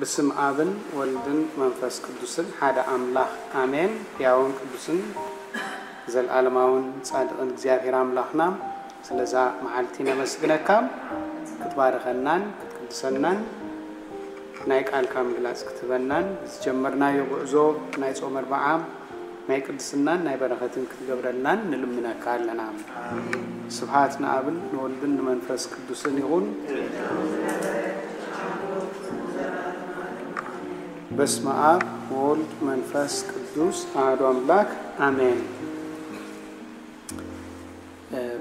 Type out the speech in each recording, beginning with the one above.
ብስም ኣብን ወልድን መንፈስ ቅዱስን ሓደ ኣምላኽ ኣሜን። ሕያውን ቅዱስን ዘልኣለማውን ጻድቕን እግዚኣብሔር ኣምላኽና፣ ስለዛ መዓልቲ ነመስግነካ። ክትባርኸናን ክትቅድሰናን ናይ ቃልካ ምግላጽ ክትህበናን ዝጀመርናዮ ጉዕዞ ናይ ጾም ኣርብዓ ናይ ቅድስናን ናይ በረኸትን ክትገብረልናን ንልምነካ ኣለና። ስብሓት ንኣብን ንወልድን ንመንፈስ ቅዱስን ይኹን። በስመ ኣብ ወወልድ መንፈስ ቅዱስ ኣሐዱ ኣምላክ ኣሜን።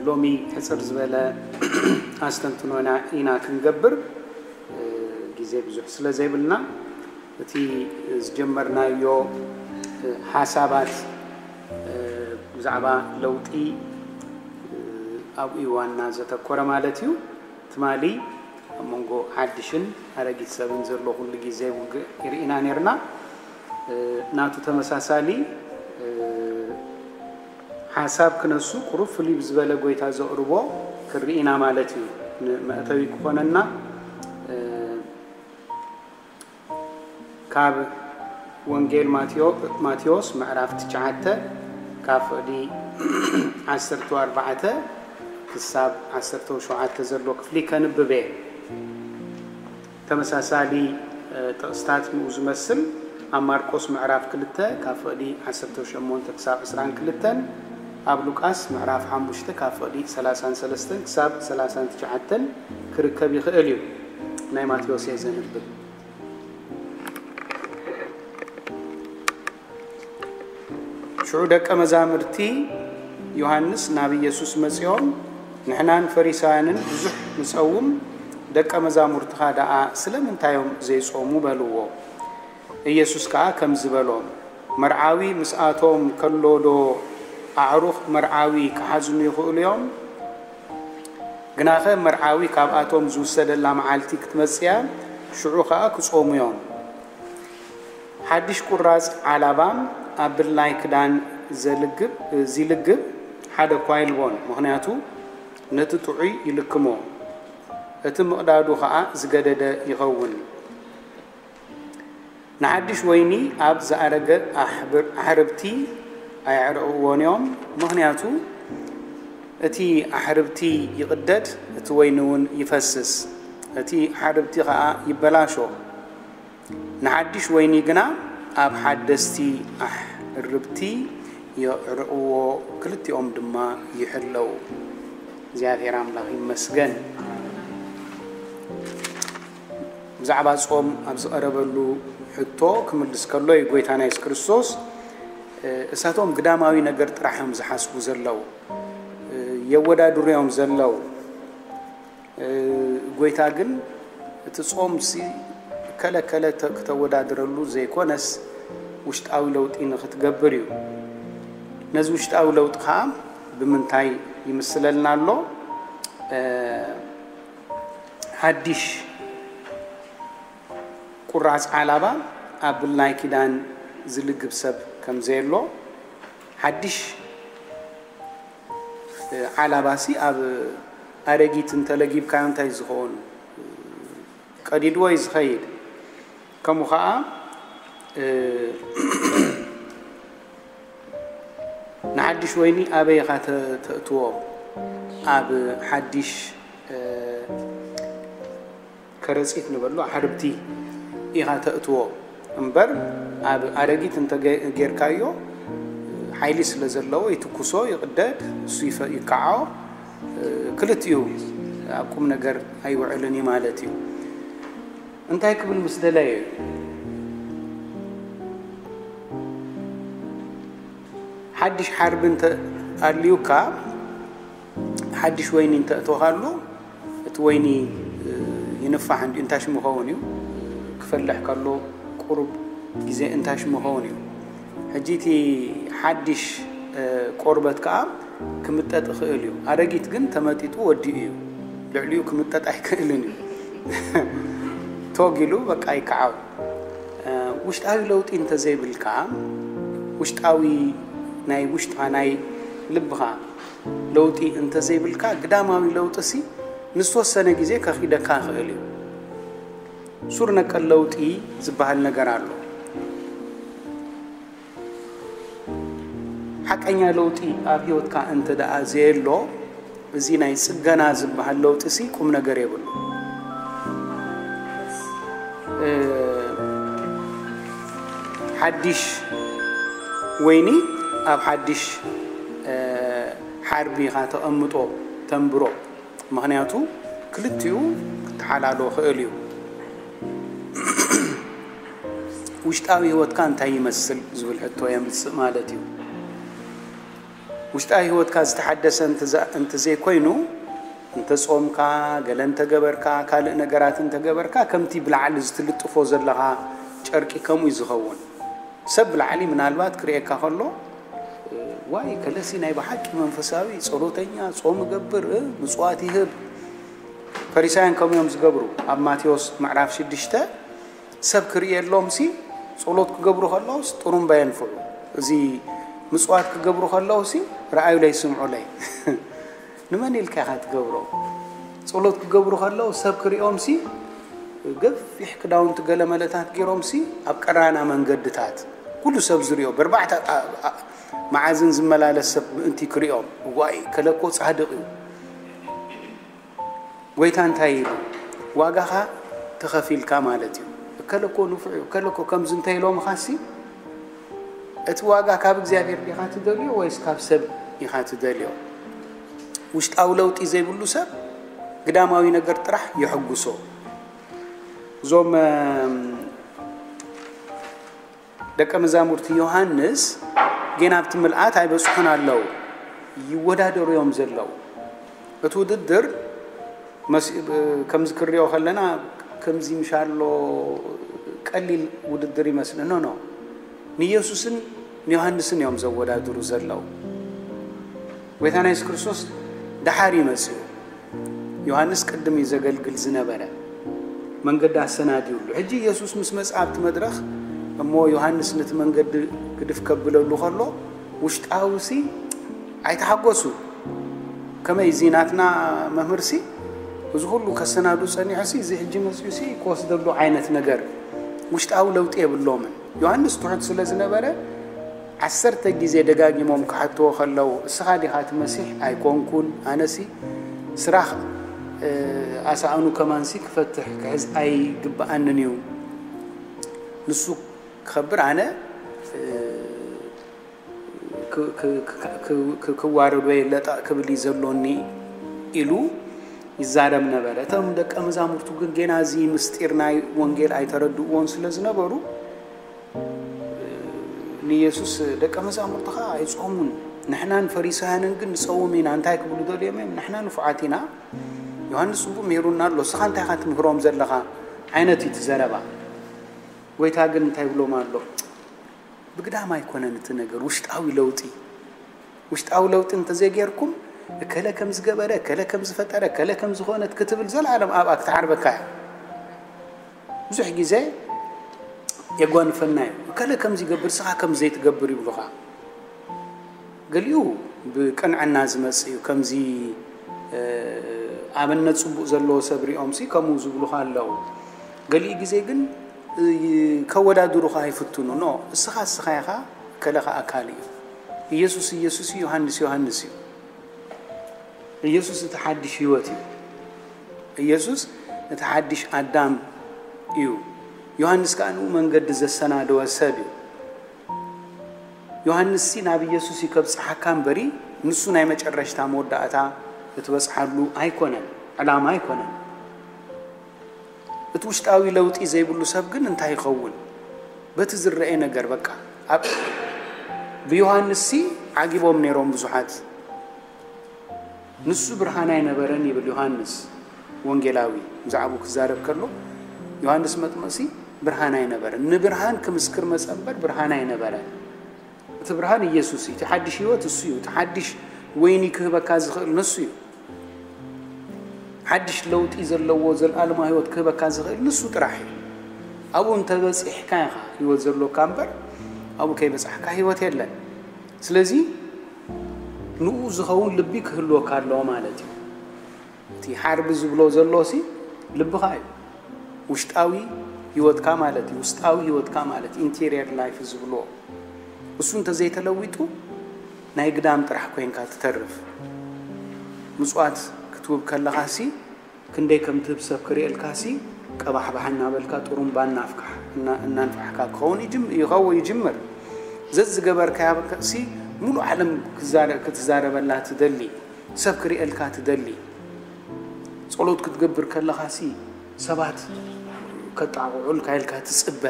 ሎሚ ሕፅር ዝበለ ኣስተንትኖና ኢና ክንገብር፣ ግዜ ብዙሕ ስለ ዘይብልና እቲ ዝጀመርናዮ ሓሳባት ብዛዕባ ለውጢ ኣብኡ ዋና ዘተኮረ ማለት እዩ። ትማሊ ኣብ መንጎ ሓድሽን ኣረጊት ሰብን ዘሎ ኩሉ ግዜ ውግእ ይርኢና ነርና። ናቱ ተመሳሳሊ ሓሳብ ክነሱ ቁሩብ ፍልይ ብዝበለ ጎይታ ዘቕርቦ ክርኢና ማለት እዩ። ንመእተዊ ክኾነና ካብ ወንጌል ማቴዎ- ማቴዎስ ምዕራፍ ትሽዓተ ካብ ፍቕዲ ዓሰርተ ኣርባዕተ ክሳብ ዓሰርተ ሸውዓተ ዘሎ ክፍሊ ከንብብ እየ። ተመሳሳሊ ጥቕስታት ንኡ ዝመስል ኣብ ማርቆስ ምዕራፍ ክልተ ካብ ፍቕዲ ዓሰርተ ሸሞንተ ክሳብ ዕስራን ክልተን፣ ኣብ ሉቃስ ምዕራፍ ሓሙሽተ ካብ ፍቕዲ ሰላሳን ሰለስተን ክሳብ ሰላሳን ትሽዓተን ክርከብ ይኽእል እዩ። ናይ ማቴዎስ እየ ዘንብብ። ሽዑ ደቀ መዛሙርቲ ዮሃንስ ናብ ኢየሱስ መጺኦም፣ ንሕናን ፈሪሳውያንን ብዙሕ ንጸውም፣ ደቀ መዛሙርትኻ ደኣ ስለምንታይ እዮም ዘይጾሙ? በልዎ። ኢየሱስ ከኣ ከምዚ በሎም፣ መርዓዊ ምስኣቶም ከሎዶ ኣዕሩኽ መርዓዊ ክሓዝኑ ይኽእሉ እዮም? ግናኸ መርዓዊ ካብኣቶም ዝውሰደላ መዓልቲ ክትመጽእ እያ፣ ሽዑ ኸኣ ክጾሙ እዮም። ሓድሽ ቁራጽ ዓላባን ኣብ ብላይ ክዳን ዘልግብ- ዚልግብ ሓደ እኳ የልቦን፣ ምኽንያቱ ነቲ ጥዑይ ይልክሞ፣ እቲ ምቕዳዱ ኸኣ ዝገደደ ይኸውን። ንሓድሽ ወይኒ ኣብ ዝኣረገ ኣሕብር- ኣሕርብቲ ኣየዕርቕዎን እዮም፣ ምኽንያቱ እቲ ኣሕርብቲ ይቕደድ፣ እቲ ወይኒ እውን ይፈስስ፣ እቲ ኣሕርብቲ ኸኣ ይበላሾ። ንሓድሽ ወይኒ ግና ኣብ ሓደስቲ ኣሕርብቲ የዕርቕዎ፣ ክልቲኦም ድማ ይሕለዉ። እግዚኣብሔር ኣምላኽ ይመስገን። ብዛዕባ ጾም ኣብ ዝቐረበሉ ሕቶ ክምልስ ከሎ እዩ ጎይታና የሱስ ክርስቶስ፣ እሳቶም ግዳማዊ ነገር ጥራሕ እዮም ዝሓስቡ ዘለዉ፣ የወዳድሩ እዮም ዘለዉ። ጎይታ ግን እቲ ጾምሲ ከለከለ ተ- ክተወዳድረሉ ዘይኮነስ ውሽጣዊ ለውጢ ንኽትገብር እዩ። ነዚ ውሽጣዊ ለውጢ ኸዓ ብምንታይ ይምስለልና ኣሎ? ሓድሽ ቁራጽ ዓላባ ኣብ ብላይ ኪዳን ዝልግብ ሰብ ከም ዘየሎ፣ ሓድሽ ዓላባሲ ኣብ ኣረጊት እንተለጊብካዮ እንታይ ዝኸውን? ቀዲድዎ እዩ ዝኸይድ። ከምኡ ኸዓ ንሓድሽ ወይኒ ኣበይ ኢኻ ተ- ተእትዎ? ኣብ ሓድሽ ከረጺት ንበሎ ኣሕርብቲ ኢኻ ተእትዎ እምበር፣ ኣብ ኣረጊት እንተ ገ- ጌርካዮ ሓይሊ ስለ ዘለዎ ይትኩሶ፣ ይቕደድ፣ እሱ ይፈ- ይከዓዖ። ክልቲኡ ኣብ ቁም ነገር ኣይውዕልን እዩ ማለት እዩ። እንታይ ክብል ምስ ደለየ እዩ? ሓድሽ ሓርቢ እንተ ኣልዩካ፣ ሓድሽ ወይኒ እንተ እተወኻሉ፣ እቲ ወይኒ ይንፋሕ እንዲ እንታሽ ምኸውን እዩ፣ ክፈልሕ ከሎ ቁሩብ ግዜ እንታሽ ምኸውን እዩ። ሕጂ እቲ ሓድሽ ቆርበት ከዓ ክምጠጥ ይኽእል እዩ። ኣረጊት ግን ተመጢጡ ወዲኡ እዩ። ልዕሊኡ ክምጠጥ ኣይክእልን እዩ። ቶግ ኢሉ በቃ ይከዓው። ውሽጣዊ ለውጢ እንተዘይብልካ፣ ውሽጣዊ ናይ ውሽጣ ናይ ልብኻ ለውጢ እንተዘይብልካ፣ ግዳማዊ ለውጢ ሲ ንዝተወሰነ ግዜ ከኺደካ ይኽእል እዩ። ሱር ነቀል ለውጢ ዝበሃል ነገር ኣሎ። ሓቀኛ ለውጢ ኣብ ህይወትካ እንተ ደኣ ዘየሎ፣ እዚ ናይ ጽገና ዝበሃል ለውጢ ሲ ቁም ነገር የብሉ። እ፣ ሓድሽ ወይኒ ኣብ ሓድሽ፣ እ፣ ሓርቢ ኢኻ ተቐምጦ፣ ተንብሮ። ምኽንያቱ ክልቲኡ ክተሓላሎ ክእል እዩ። ውሽጣዊ ህይወትካ እንታይ ይመስል ዝብል ሕቶ የምጽእ ማለት እዩ። ውሽጣዊ ህይወትካ ዝተሓደሰ እንተ-፣ እንተዘይኮይኑ፣ እንተጾምካ፣ ገለ እንተገበርካ፣ ካልእ ነገራት እንተገበርካ፣ ከምቲ ብላዕሊ ዝትልጥፎ ዘለኻ ጨርቂ ከምኡ እዩ ዝኸውን። ሰብ ብላዕሊ ምናልባት ክርእየካ ከሎ፣ "ዋይ፣ ከለሲ ናይ ብሓቂ መንፈሳዊ፣ ጸሎተኛ፣ ጾም ይገብር፣ እ፣ ምጽዋት ይህብ።" ፈሪሳውያን ከምኡ እዮም ዝገብሩ። ኣብ ማቴዎስ ምዕራፍ ሽዱሽተ፣ ሰብ ክርእየሎምሲ፣ ጸሎት ክገብሩ ከለውስ ጥሩምባ የንፍዑ። እዚ ምጽዋት ክገብሩ ከለውሲ፣ "ረኣዩለይ፣ ስምዑለይ።" ንመን ኢልካ ኢኻ ትገብሮ? ጸሎት ክገብሩ ከለዉ ሰብ ክርእዮምሲ፣ ገፊሕ ክዳውንቲ ገለመለታት ገይሮምሲ፣ ኣብ ቀራና መንገድታት ኩሉ ሰብ ዝርእዮ፣ በርባዕተ ኣ-፣ ኣ-፣ መዓዝን ዝመላለስ ሰብ ምእንቲ ክርእዮም፣ "ዋይ፣ ከለኮ ጻድቕ እዩ።" ጎይታ እንታይ ኢሉ? "ዋጋኻ ተኸፊልካ" ማለት እዩ። "እከለኮ ንፉዕ እዩ፣ እከለኮ ከምዚ" እንተ ኢሎምኻሲ፣ እቲ ዋጋ ካብ እግዚኣብሔር ዲኻ ትደልዮ ወይስ ካብ ሰብ ኢኻ ትደልዮ? ውሽጣዊ ለውጢ ዘይብሉ ሰብ ግዳማዊ ነገር ጥራሕ የሐጉሶ። እዞም፣ እም፣ ደቀ መዛሙርቲ ዮሃንስ ጌና ኣብቲ ምልኣት ኣይበጽሑን ኣለዉ፣ ይወዳደሩ እዮም ዘለዉ። እቲ ውድድር መስ-፣ ከምዚ ክንሪኦ ከለና ከምዚ ምሻሎ ቀሊል ውድድር ይመስል። ኖ፣ ኖ። ንየሱስን ንዮሃንስን እዮም ዘወዳድሩ ዘለዉ። ጎይታና የሱስ ክርስቶስ ደሓር እዩ መጺኡ። ዮሃንስ ቅድም እዩ ዘገልግል ዝነበረ። መንገዲ ኣሰናድዩሉ። ሕጂ የሱስ ምስ መጽኣ ኣብቲ መድረኽ እሞ ዮሃንስ ነቲ መንገዲ ግድፍ ከብለሉ ከሎ ውሽጣዊ ሲ ኣይተሓጎሱ። ከመይ እዚ ናትና መምህርሲ እዚ ኩሉ ከሰናዱ ጸኒሑሲ እዚ ሕጂ መጺኡሲ ክወስደሉ ዓይነት ነገር ውሽጣዊ ለውጢ የብሎምን። ዮሃንስ ትሑት ስለ ዝነበረ ዓሰርተ ግዜ ደጋጊሞም ክሓትዎ ከለዉ፣ "እስኻ ዲኻ እቲ መሲሕ?" "ኣይኮንኩን፣ ኣነሲ ስራኽ፣ እ፣ ኣሳእኑ ከማንሲ ክፈትሕ ክሕዝ ኣይግብኣንን እዩ። ንሱ ክኸብር ኣነ፣ እ፣ ክ-፣ ክ-፣ ክ-፣ ክ-፣ ክ-፣ ክዋረድ ወይ ለጠቕ ክብል እዩ ዘሎኒ" ኢሉ ይዛረብ ነበረ። እቶም ደቀ መዛሙርቱ ግን ጌና እዚ ምስጢር ናይ ወንጌል ኣይተረድእዎን ስለ ዝነበሩ፣ ንየሱስ፣ "ደቀ መዛሙርትኻ ኣይጾሙን፣ ንሕናን ፈሪሳውያንን ግን ንጸውም ኢና" እንታይ ክብሉ ደልዮም እዮም? "ንሕና ንፉዓት ኢና፣ ዮሃንስ ጽቡቕ ምሂሩና ኣሎ፣ እስኻ እንታይ ኢኻ ትምህሮም ዘለኻ?" ዓይነት እዩ እቲ ዘረባ። ጎይታ ግን እንታይ ይብሎም ኣሎ? ብግዳም ኣይኮነን እቲ ነገር፣ ውሽጣዊ ለውጢ። ውሽጣዊ ለውጢ እንተዘይጌርኩም፣ "እከለ ከም ዝገበረ፣ እከለ ከም ዝፈጠረ፣ እከለ ከም ዝኾነት" ክትብል ዘላለም ኣብኣ ክትዓርበካ እያ። ብዙሕ ግዜ የጓንፈና እዩ። "እከለ ከም ዝገብር፣ ስኻ ከም ዘይትገብር" ይብሉኻ። ገሊኡ ብቅንዕና ዝመጽእ እዩ። ከምዚ፣ እ፣ ኣብነት ጽቡቕ ዘለዎ ሰብ ሪኦምሲ ከምኡ ዝብሉኻ ኣለዉ። ገሊኡ ግዜ ግን፣ እ፣ ከወዳድሩኻ ይፍትኑ። ኖ፣ እስኻ እስኻ ኢኻ፣ እከለ ኸኣ ካልእ እዩ። ኢየሱስ ኢየሱስ እዩ፣ ዮሃንስ ዮሃንስ እዩ። ኢየሱስ እቲ ሓድሽ ህይወት እዩ። ኢየሱስ እቲ ሓድሽ ኣዳም እዩ። ዮሃንስ ከኣ ንኡ መንገዲ ዘሰናደወ ሰብ እዩ። ዮሃንስሲ ናብ ኢየሱስ እዩ ከብጽሓካ እምበሪ፣ ንሱ ናይ መጨረሽታ መወዳእታ እትበጽሓሉ ኣይኮነን፣ ዕላማ ኣይኮነን። እቲ ውሽጣዊ ለውጢ ዘይብሉ ሰብ ግን እንታይ ይኸውን? በቲ ዝረአ ነገር በቃ። ኣብ-፣ ብዮሃንስሲ ዓጊቦም ነይሮም ብዙሓት። "ንሱ ብርሃን ኣይነበረን" ይብል ዮሃንስ ወንጌላዊ ብዛዕባኡ ክዛረብ ከሎ፣ ዮሃንስ መጥምቕሲ ብርሃን ኣይነበረን። ንብርሃን ክምስክር መጸ እምበር ብርሃን ኣይነበረን። እቲ ብርሃን ኢየሱስ እዩ። እቲ ሓድሽ ህይወት እሱ እዩ። እቲ ሓድሽ ወይኒ ክህበካ ዝኽእል ንሱ እዩ። ሓድሽ ለውጢ ዘለዎ ዘልኣለማዊ ህይወት ክህበካ ዝኽእል ንሱ ጥራሕ እዩ። ኣብኡ እንተበጺሕካ ኢኻ ህይወት ዘሎካ እምበር፣ ኣብኡ ከይበጻሕካ ህይወት የለን። ስለዚ ንኡ ዝኸውን ልቢ ክህልወካ ኣለዎ ማለት እዩ። እቲ ሓርቢ ዝብሎ ዘሎሲ ልብኻ እዩ። ውሽጣዊ ህይወትካ ማለት እዩ። ውስጣዊ ህይወትካ ማለት ኢንቴሪየር ላይፍ ዝብልዎ እሱ እንተዘይተለዊጡ ናይ ግዳም ጥራሕ ኮይንካ ትተርፍ። ምጽዋት ክትውብ ከለኻሲ ክንደይ ከም ትህብ ሰብ ክርእየልካሲ ቀባሕባሕ እናበልካ ጥሩምባ እናፍካሕ እናንፋሕካ ክኸውን ይኸው ይጅምር። ዘዝገበርካያ ሲ ሙሉእ ዓለም ክትዛረበላ ትደሊ፣ ሰብ ክርእየልካ ትደሊ። ጸሎት ክትገብር ከለኻሲ ሰባት ከጣቕዑልካ ኢልካ ትጽበ።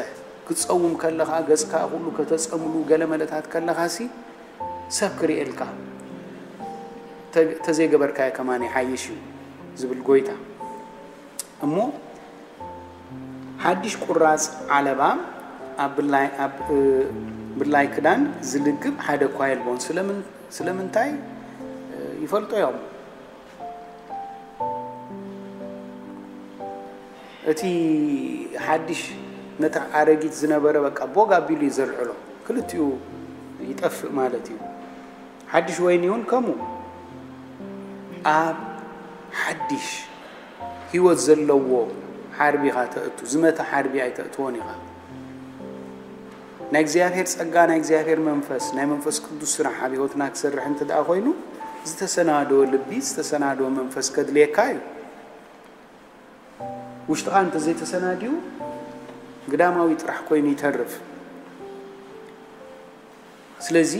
ክትጸውም ከለኻ ገጽካ ኩሉ ከተጸምሉ ገለ መለታት ከለኻሲ ሰብ ክርእየልካ ተዘይገበርካዮ ከማን ይሓይሽ እዩ ዝብል ጎይታ። እሞ ሓድሽ ቁራጽ ዓለባ ኣብ ብላይ ክዳን ዝልግብ ሓደ እኳ የልቦን። ስለምንታይ ይፈልጦ እዮም። እቲ ሓድሽ ነቲ ኣረጊት ዝነበረ በቃ ቦግ ኣቢሉ እዩ ዘልዕሎ። ክልቲኡ ይጠፍእ ማለት እዩ። ሓድሽ ወይኒ እውን ከምኡ ኣብ ሓድሽ ህይወት ዘለዎ ሓርቢ ኢኻ ተእቱ። ዝመተ ሓርቢ ኣይተእትዎን ኢኻ። ናይ እግዚኣብሔር ጸጋ፣ ናይ እግዚኣብሔር መንፈስ፣ ናይ መንፈስ ቅዱስ ስራሕ ኣብ ህይወትና ክሰርሕ እንተ ደኣ ኮይኑ ዝተሰናደወ ልቢ፣ ዝተሰናደወ መንፈስ ከድልየካ እዩ። ውሽጥኻ እንተዘይተሰናድዩ ግዳማዊ ጥራሕ ኮይኑ ይተርፍ። ስለዚ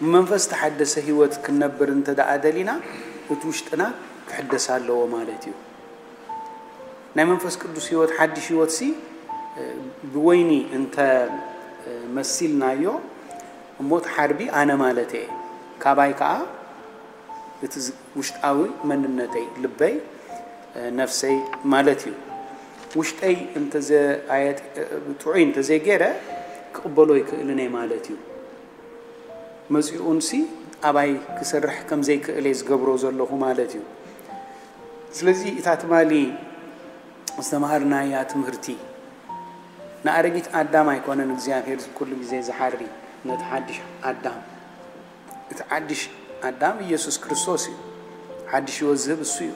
ብመንፈስ ተሓደሰ ህይወት ክንነብር እንተ ደኣ ደሊና እቲ ውሽጥና ክሕደስ ኣለዎ ማለት እዩ። ናይ መንፈስ ቅዱስ ህይወት ሓድሽ ህይወትሲ ብወይኒ እንተ መሲልናዮ እሞ እቲ ሓርቢ ኣነ ማለት እየ። ካባይ ከዓ እቲ ውሽጣዊ መንነተይ ልበይ ነፍሰይ ማለት እዩ። ውሽጠይ ጥዑይ እንተዘይገይረ ክቕበሎ ኣይክእልን እየ ማለት እዩ። መፂኡንሲ ኣባይ ክሰርሕ ከምዘይክእል እየ ዝገብሮ ዘለኹ ማለት እዩ። ስለዚ እታ ትማሊ ዝተምሃርናያ ትምህርቲ ንኣረጊት ኣዳም ኣይኮነን እግዚኣብሔር ኩሉ ግዜ ዝሓሪ፣ ነቲ ሓድሽ ኣዳም። እቲ ሓድሽ ኣዳም ኢየሱስ ክርስቶስ እዩ። ሓድሽ ህይወት ዝህብ እሱ እዩ።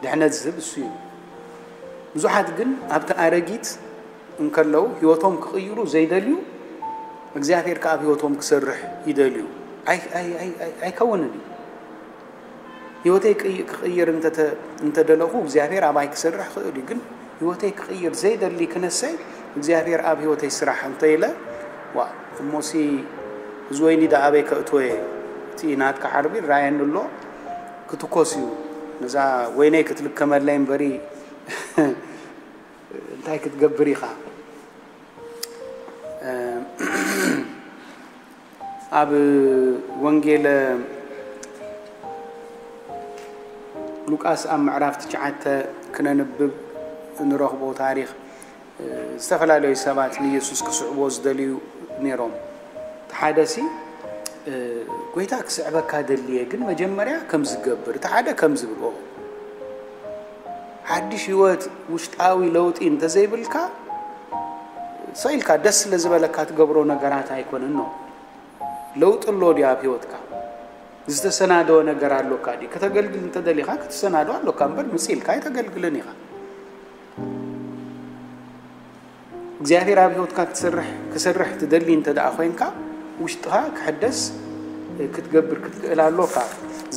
ድሕነት ዝህብ እሱ እዩ። ብዙሓት ግን ኣብቲ ኣረጊት እንከለዉ ህይወቶም ክቕይሩ ዘይደልዩ፣ እግዚኣብሔር ከኣ ኣብ ህይወቶም ክሰርሕ ይደልዩ። ኣይከውንን እዩ። ህይወተይ ክቕይር እንተደለኹ እግዚኣብሔር ኣባይ ክሰርሕ ክእል እዩ። ግን ህይወተይ ክቕይር ዘይደሊ ክነሰይ እግዚኣብሔር ኣብ ህይወተይ ስራሕ እንተኢለ ዋ እሞሲ እዚ ወይኒ ዳ ኣበይ ከእትወ እቲ ናትካ ሓርቢ ራየኒ ኣሎ ክትኮስ እዩ። ነዛ ወይነይ ክትልከመለይ እምበሪ እንታይ ክትገብር ኢኻ? ኣብ ወንጌለ ሉቃስ ኣብ ምዕራፍ ትሽዓተ ክነንብብ እንረኽቦ ታሪኽ፣ ዝተፈላለዩ ሰባት ንየሱስ ክስዕብዎ ዝደልዩ ነይሮም። እቲ ሓደሲ፣ "ጎይታ፣ ክስዕበካ ደልየ፣ ግን መጀመርያ ከም ዝገብር፣ እቲ ሓደ ከም ዝብል፣ ኦ፣ ሓድሽ ህይወት፣ ውሽጣዊ ለውጢ እንተዘይብልካ፣ ሰኢልካ ደስ ስለ ዝበለካ ትገብሮ ነገራት ኣይኮነን ነው። ለውጢ ኣሎ ድዩ ኣብ ህይወትካ? ዝተሰናደወ ነገር ኣሎካ ድዩ? ከተገልግል እንተደሊኻ ክትሰናዶ ኣሎካ እምበር፣ ምጽ ኢልካ ኣይተገልግልን ኢኻ። እግዚኣብሔር ኣብ ህይወትካ ክትሰርሕ፣ ክሰርሕ ትደሊ እንተ ደኣ ኮይንካ፣ ውሽጥኻ ክሕደስ ክትገብር ክትክእል ኣሎካ።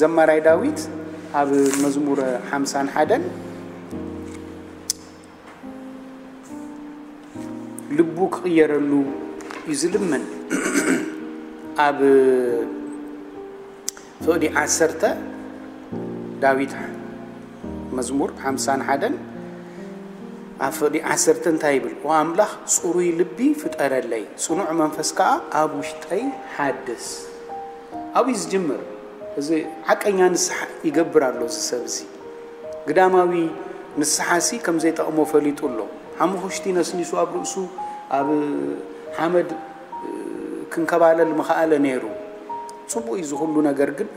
ዘማራይ ዳዊት ኣብ መዝሙር ሓምሳን ሓደን ልቡ ክቕየረሉ እዩ ዝልምን። ኣብ ፍቕዲ ዓሰርተ፣ ዳዊት መዝሙር ሓምሳን ሓደን ኣብ ፍቕዲ ዓሰርተ እንታይ ይብል? "ኦ ኣምላኽ፣ ጽሩይ ልቢ ፍጠረለይ፣ ጽኑዕ መንፈስ ከኣ ኣብ ውሽጠይ ሓድስ።" ኣብኡ እዩ ዝጅምር። እዚ ሓቀኛ ንስሓ ይገብር ኣሎ እዚ ሰብ እዚ። ግዳማዊ ንስሓሲ ከም ዘይጠቕሞ ፈሊጡ ኣሎ። ሓሙኽሽቲ ነስኒሱ ኣብ ርእሱ ኣብ ሓመድ ክንከባለል ምኸኣለ ነይሩ። ጽቡቕ እዩ እዚ ኩሉ ነገር፣ ግን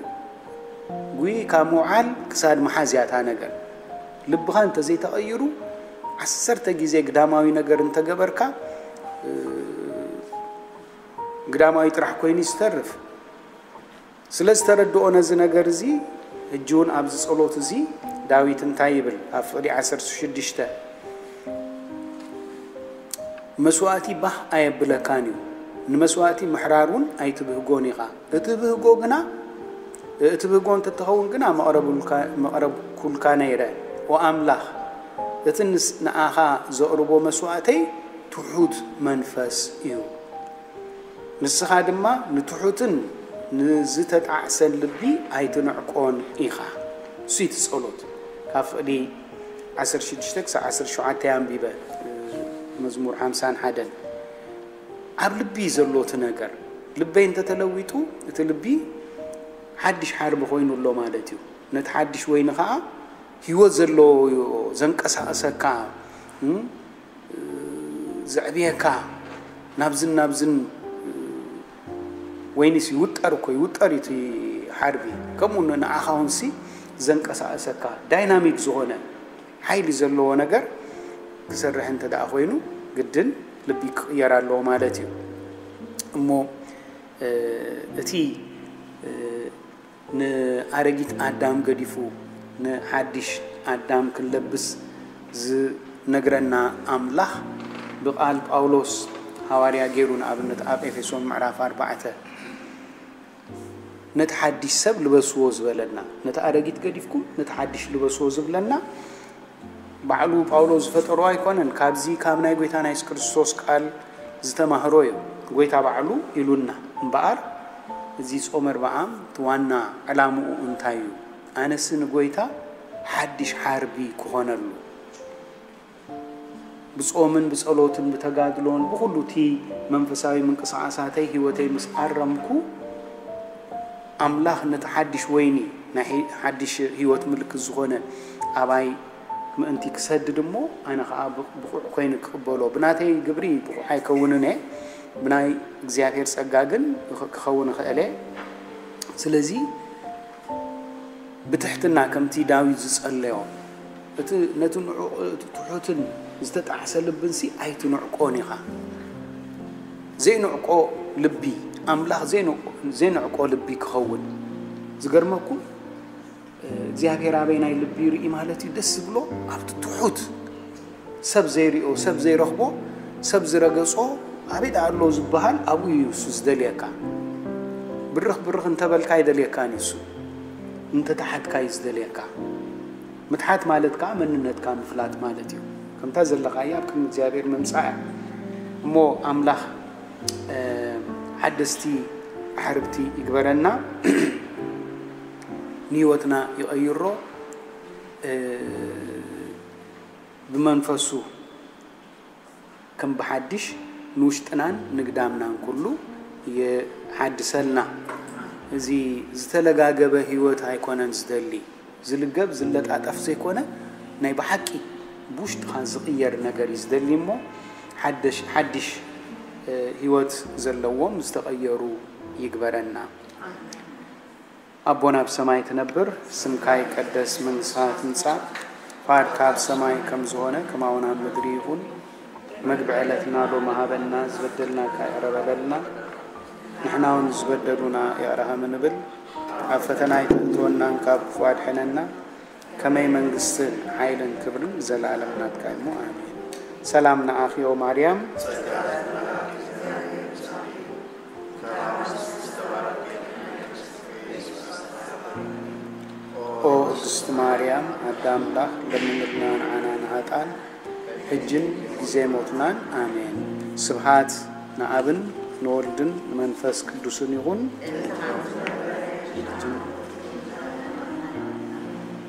ጉይ ካብ ምውዓል ክሳድ ምሓዝ እያ እታ ነገር። ልብኻ እንተዘይተቐይሩ፣ ዓሰርተ ግዜ ግዳማዊ ነገር እንተገበርካ፣ ግዳማዊ ጥራሕ ኮይኑ እዩ ዝተርፍ። ስለ ዝተረድኦ ነዚ ነገር እዚ፣ ሕጂ እውን ኣብዚ ጸሎት እዚ ዳዊት እንታይ ይብል? ኣብ ፍቕዲ ዓሰርተ ሽዱሽተ፣ መስዋእቲ ባህ ኣየብለካን እዩ። ንመስዋእቲ ምሕራር እውን ኣይትብህጎን ኢኻ። እትብህጎ ግና እትብህጎ እንተትኸውን ግና መቕረብልካ- መቕረብኩልካ ነይረ። ኦ ኣምላኽ፣ እቲ ንስ- ንኣኻ ዘቕርቦ መስዋእተይ ትሑት መንፈስ እዩ። ንስኻ ድማ ንትሑትን ንዝተጣዕሰን ልቢ ኣይትንዕቆን ኢኻ። እሱ እቲ ጸሎት ካብ ፍቕዲ ዓሰርተ ሽዱሽተ ክሳብ ዓሰርተ ሸውዓተ ኣንቢበ፣ መዝሙር ሓምሳን ሓደን። ኣብ ልቢ ዘሎ እቲ ነገር፣ ልበይ እንተተለዊጡ፣ እቲ ልቢ ሓድሽ ሓርቢ ኮይኑ ኣሎ ማለት እዩ። ነቲ ሓድሽ ወይኒ ኸዓ ህይወት ዘለዎ እዩ ዘንቀሳቕሰካ፣ እም፣ ዘዕብየካ፣ ናብዝን ናብዝን። ወይኒስ ይውጠር እኮ፣ ይውጠር እዩ እቲ ሓርቢ። ከምኡ ን- ንዓኻ እውን ሲ ዘንቀሳቕሰካ፣ ዳይናሚክ ዝኾነ ሓይሊ ዘለዎ ነገር ክሰርሕ እንተ ደኣ ኮይኑ፣ ግድን ልቢ ክቕየር ኣለዎ ማለት እዩ። እሞ እ፣ እቲ እ፣ ንኣረጊት ኣዳም ገዲፉ ንሓድሽ ኣዳም ክንለብስ ዝነግረና ኣምላኽ ብቓል ጳውሎስ ሃዋርያ ገይሩ፣ ንኣብነት ኣብ ኤፌሶን ምዕራፍ ኣርባዕተ፣ ነቲ ሓድሽ ሰብ ልበስዎ ዝበለና፣ ነቲ ኣረጊት ገዲፍኩም ነቲ ሓድሽ ልበስዎ ዝብለና፣ ባዕሉ ጳውሎስ ዝፈጠሮ ኣይኮነን። ካብዚ ካብ ናይ ጎይታና የሱስ ክርስቶስ ቃል ዝተማህሮ እዩ። ጎይታ ባዕሉ ኢሉና። እምበኣር እዚ ጾመ ኣርብዓ እቲ ዋና ዕላምኡ እንታይ እዩ? ኣነሲ ንጎይታ ሓድሽ ሓርቢ ክኾነሉ፣ ብጾምን ብጸሎትን ብተጋድሎን ብኹሉ እቲ መንፈሳዊ ምንቅስቓሳተይ ህይወተይ ምስ ኣረምኩ፣ ኣምላኽ ነቲ ሓድሽ ወይኒ፣ ናይ ሒ- ሓድሽ ህይወት ምልክት ዝኾነ ኣባይ ምእንቲ ክሰድድ እሞ፣ ኣነ ኸዓ ብ- ብቑዕ ኮይነ ክቕበሎ፣ ብናተይ ግብሪ ብቑዕ ኣይከውንን እየ፣ ብናይ እግዚኣብሔር ጸጋ ግን ኽ- ክኸውን እኽእል እየ። ስለዚ ብትሕትና ከምቲ ዳዊት ዝጸለዮ፣ እቲ ነቲ ንዑቕ- እቲ ትሑትን ዝተጣዕሰ ልብንሲ ኣይትንዕቆን ኢኻ። ዘይንዕቆ ልቢ፣ ኣምላኽ ዘይንዕቆ- ዘይንዕቆ ልቢ ክኸውን። ዝገርመኩም እግዚኣብሔር ኣበይ ናይ ልቢ ይርኢ ማለት እዩ። ደስ ዝብሎ ኣብቲ ትሑት፣ ሰብ ዘይሪኦ፣ ሰብ ዘይረኽቦ፣ ሰብ ዝረገጾ ኣበይ ደኣ ኣሎ ዝበሃል ኣብኡ እዩ እሱ ዝደልየካ። ብርኽ ብርኽ እንተበልካ ኣይደልየካን እዩ እሱ፣ እንተተሓትካ እዩ ዝደልየካ። ምትሓት ማለት ከዓ መንነትካ ምፍላጥ ማለት እዩ። ከምታ ዘለኻያ ኣብ ቅድሚ እግዚኣብሔር ምምጻእ እያ። እሞ ኣምላኽ እ፣ ሓደስቲ ኣሕርብቲ ይግበረና፣ ንህይወትና ይቐይሮ፣ እ፣ ብመንፈሱ ከም ብሓድሽ ንውሽጥናን ንግዳምናን ኩሉ ይሓድሰልና። እዚ ዝተለጋገበ ህይወት ኣይኮነን ዝደሊ። ዝልገብ ዝለጣጠፍ ዘይኮነ፣ ናይ ብሓቂ ብውሽጥኻ ዝቕየር ነገር እዩ ዝደሊ እሞ፣ ሓደሽ- ሓድሽ፣ እ፣ ህይወት ዘለዎም ዝተቐየሩ ይግበረና። ኣቦና ኣብ ሰማይ ትነብር፣ ስምካ ይቀደስ፣ መንግስትኻ ትምጻእ፣ ፍቓድካ ኣብ ሰማይ ከም ዝኾነ ከማውን ኣብ ምድሪ ይኹን። መግቢ ዕለትና ሎሚ ሃበና፣ ዝበደልናካ ይቕረ በለልና፣ ንሕና እውን ዝበደሉና ይቕረ ከም ንብል፣ ኣብ ፈተና ኣይተእትወናን ካብ ክፉእ ኣድሕነና፣ ከመይ መንግስትን ሓይልን ክብርን ዘለኣለም ናትካ እዩ እሞ፣ ኣሜን። ሰላም ንዓኺ ኦ ማርያም። ኦ ቅድስቲ ማርያም ኣደ ኣምላኽ፣ ለምንልና ንዓና ንሃጣን፣ ሕጅን ግዜ ሞትናን። ኣሜን። ስብሃት ንኣብን ንወልድን ንመንፈስ ቅዱስን ይኹን።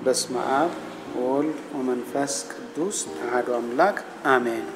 በስመ ኣብ ወወልድ ወመንፈስ ቅዱስ ኣሐዱ ኣምላክ ኣሜን።